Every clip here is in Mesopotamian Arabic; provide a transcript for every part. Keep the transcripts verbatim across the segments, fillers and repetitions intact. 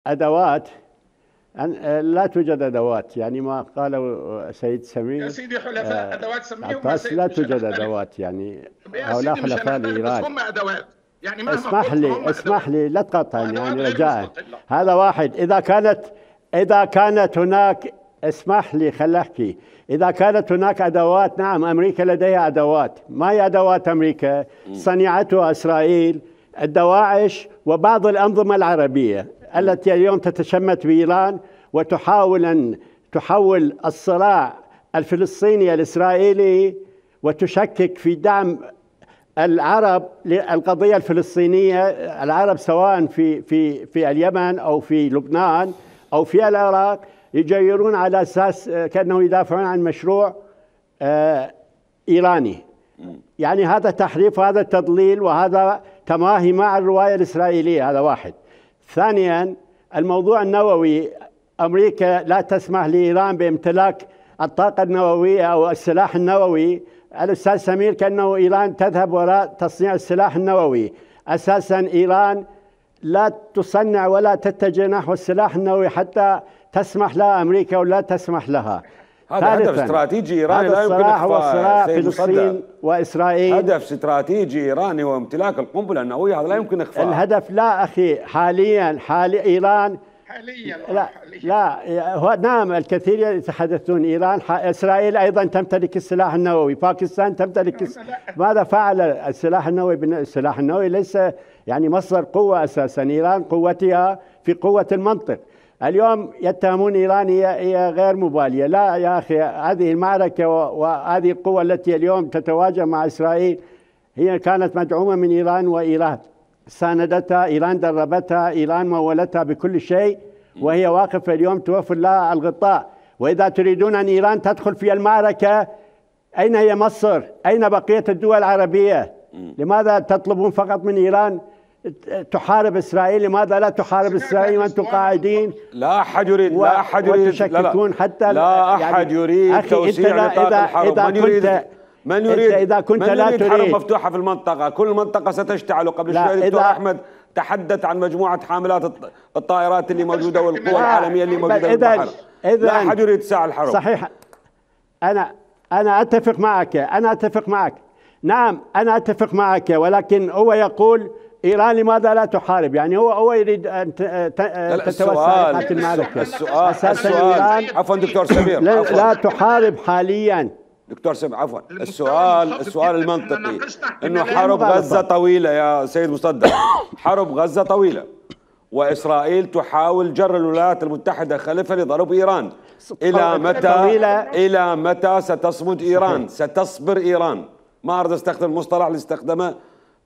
أدوات. لا توجد أدوات، يعني ما قاله سيد سمير يا سيدي حلفاء. أدوات سميهم بس لا توجد أدوات، يعني هؤلاء حلفاء لإيران. بس هم أدوات، يعني مهما اسمح لي هم اسمح لي لا تقاطعني يعني رجاء. مستقلة. هذا واحد. إذا كانت إذا كانت هناك، اسمح لي خل أحكي. إذا كانت هناك أدوات، نعم أمريكا لديها أدوات. ما هي أدوات أمريكا؟ صنعتها إسرائيل، الدواعش وبعض الأنظمة العربية التي اليوم تتشمت بإيران وتحاول أن تحول الصراع الفلسطيني الإسرائيلي وتشكك في دعم العرب للقضية الفلسطينية. العرب سواء في في في اليمن أو في لبنان أو في العراق يجيرون على أساس كأنه يدافعون عن مشروع آه إيراني. يعني هذا تحريف وهذا تضليل وهذا تماهي مع الرواية الإسرائيلية. هذا واحد. ثانيا الموضوع النووي، أمريكا لا تسمح لإيران بامتلاك الطاقة النووية أو السلاح النووي. الأستاذ سمير كأنه إيران تذهب وراء تصنيع السلاح النووي. أساسا إيران لا تصنع ولا تتجه نحو السلاح النووي حتى تسمح لها أمريكا ولا تسمح لها. هذا هدف استراتيجي إيراني لا يمكن إخفاء. هو صراع فلسطين وإسرائيل. هدف استراتيجي إيراني وامتلاك القنبلة النووية، هذا لا يمكن إخفاء. الهدف لا أخي، حاليا حالي إيران حاليا لا حاليا. لا هو نعم الكثير يتحدثون إيران. إسرائيل أيضا تمتلك السلاح النووي، باكستان تمتلك الس... ماذا فعل السلاح النووي؟ السلاح النووي ليس يعني مصدر قوة أساسا. إيران قوتها في قوة المنطق. اليوم يتهمون إيران هي غير مبالية. لا يا أخي، هذه المعركة وهذه القوة التي اليوم تتواجه مع إسرائيل هي كانت مدعومة من إيران، وإيران ساندتها، إيران دربتها، إيران مولتها بكل شيء، وهي واقفة اليوم توفر لها الغطاء. وإذا تريدون أن إيران تدخل في المعركة، أين هي مصر؟ أين بقية الدول العربية؟ لماذا تطلبون فقط من إيران تحارب إسرائيل؟ لماذا لا تحارب إسرائيل وأنتم قاعدين؟ لا أحد يريد و... لا أحد يريد وتشككون حتى لا أحد يعني يريد توسيع نطاق الحرب. إذا من يريد كنت من يريد إذا كنت من لا يريد تريد حرب مفتوحة في المنطقة؟ كل المنطقة ستشتعل. قبل شوي الدكتور أحمد تحدث عن مجموعة حاملات الطائرات اللي موجودة والقوى العالمية اللي موجودة في البحر. لا أحد يريد اتساع الحرب. صحيح. أنا أنا أتفق معك أنا أتفق معك نعم أنا أتفق معك، ولكن هو يقول إيران لماذا لا تحارب؟ يعني هو هو يريد أن تتوسع نقاط المعركة. السؤال السؤال عفوا دكتور سمير، لا, لا تحارب حاليا دكتور سمير عفوا. السؤال السؤال المنطقي انه حرب غزة طويلة يا سيد مصدق. حرب غزة طويلة وإسرائيل تحاول جر الولايات المتحدة خلفها لضرب إيران. إلى متى إلى متى ستصمد إيران؟ ستصبر إيران؟ ما أريد أستخدم المصطلح اللي استخدمه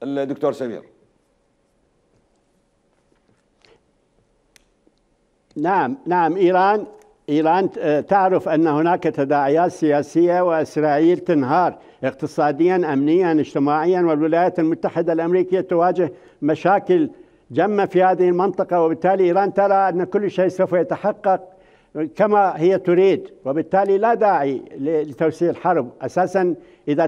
الدكتور سمير. نعم نعم إيران إيران تعرف أن هناك تداعيات سياسية، وإسرائيل تنهار اقتصاديا أمنيا اجتماعيا، والولايات المتحدة الأمريكية تواجه مشاكل جمة في هذه المنطقة، وبالتالي إيران ترى أن كل شيء سوف يتحقق كما هي تريد، وبالتالي لا داعي لتوسيع الحرب. أساسا إذا